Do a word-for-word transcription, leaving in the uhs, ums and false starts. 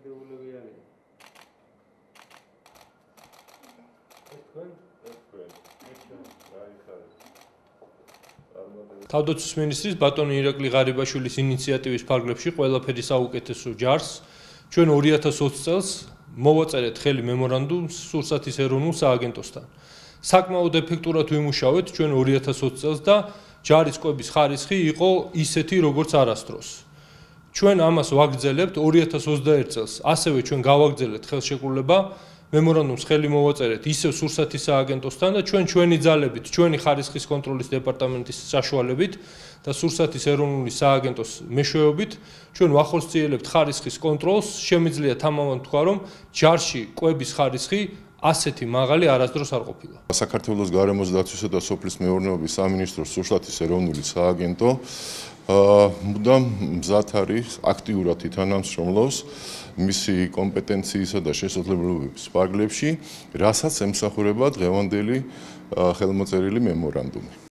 დამოკიდებულები არიან. ეს თქვენ? ეს თქვენ. ეს ჩვენ. აი ხარ. თავდაცვის მინისტრის ბატონი ირაკლი ღარიბაშვილის ინიციატივის ფარგლებში ყველაფერი საუკეთესო ჯარს ჩვენ ორი ათას ოცი წელს მოვაწერეთ ხელი მემორანდუმს სურსათის ეროვნულ სააგენტოსთან. საკმაოდ ეფექტურად ვიმუშავეთ ჩვენ ორი ათას ოცი წელს და ჯარის კვების ხარისხი იყო ისეთი როგორც არასდროს. ჩვენ ამას ვაგრძელებთ ორი ათას ოცდაერთ წელს. ასევე ჩვენ გავაგრძელებთ ხელშეკრულება მემორანდუმს ხელი მოვაწერეთ ისევ სურსათის სააგენტოსთან და ჩვენ ჩვენი ძალებით, ჩვენი ხარისხის კონტროლის დეპარტამენტის საშუალებით და სურსათის ეროვნული სააგენტოს მეშვეობით ჩვენ ვახორციელებთ ხარისხის კონტროლს. შემიძლია თამამად თქვა, რომ ჯარში კვების ხარისხი ასეთი მაღალი არასდროს არ ყოფილა. საქართველოს გარემოს დაცვისა და სოფლის მეურნეობის სამინისტროს სურსათის ეროვნული სააგენტო მუდამ მზად არის აქტიურად ითანამშრომლობს მისი კომპეტენციისა და შესაძლებლობების ფარგლებში, რასაც ემსახურება დღევანდელი ხელმოწერილი მემორანდუმი.